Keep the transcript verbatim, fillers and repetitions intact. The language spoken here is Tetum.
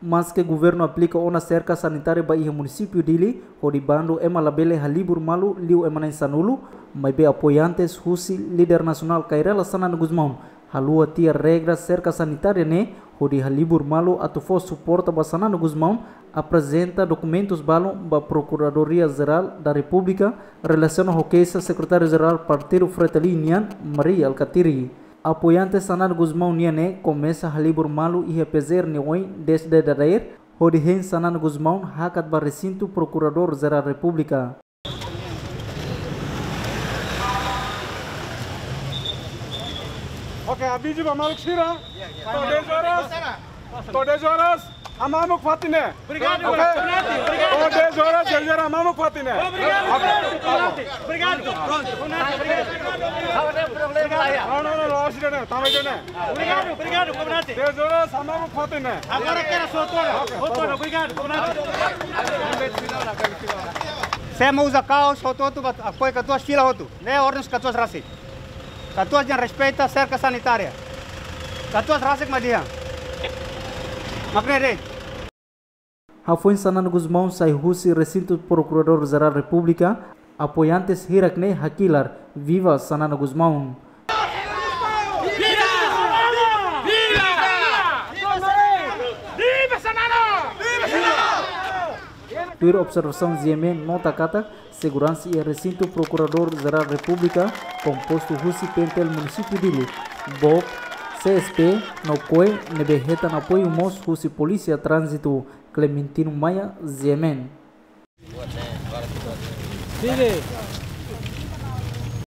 Maske governu aplika ona serka sanitária ba iha munisípiu Dili, hodi bandu ema labele halibur malu liu ema na'in sanulu, maibé apoiantes husi líder nasionál Kay Rala Xanana Gusmão haluha tiha regra serka sanitária ne'e, hodi halibur malu atu fó suporta ba Xanana Gusmão aprezenta dokumentus balun ba Prokuradoria Jerál da Repúblika relasiona ho keixa Sekretáriu Jerál Partidu Fretilin nian, Mari Alkatiri. Apoiante Xanana Gusmão nian ne'e komesa halibur malu iha P J R ne'e ohin, dez de dadeer, hodi hein Xanana Gusmão hakat ba resintu Prokuradór Jerál Repúblika. Oke, avizu ba maluk sira. To'o dez horas. To'o dez horas, hamamuk fatin ne'e. Obrigadu, oke? Obrigadu. To'o dez horas, dez horas, hamamuk fatin ne'e. Obrigadu, obrigadu, komandante. Obrigadu. Prontu, komandante, obrigadu. Não, não, não, não, acho que não, tá mais não. Obrigadu, obrigadu, komandante. Dez horas, hamamuk fatin ne'e. Agora quero só outra. Oke, obrigadu, komandante. Semo uza kaos, hotu-hotu, apoiu katuas fila hotu. Ne'e ordens katuas rasik. Katuas jan respeita serka sanitária. Katuas rasik mak dehan. Mak ne'e de'it. Hafoin Xanana Gusmão sai husi resintu Prokuradór Jerál Repúblika, apoiantes hirak ne'e hakilar: Viva Xanana Gusmão! Tuir observasaun G M N nota katak seguransa iha resintu Prokuradór Jerál Repúblika, kompostu husi PNTL Munisípiu Dili, BOP, C S P, no koe, ne'ebé hetan apoiu mós husi Polísia Tránzitu. Clementino Maia, G M N. Sigue.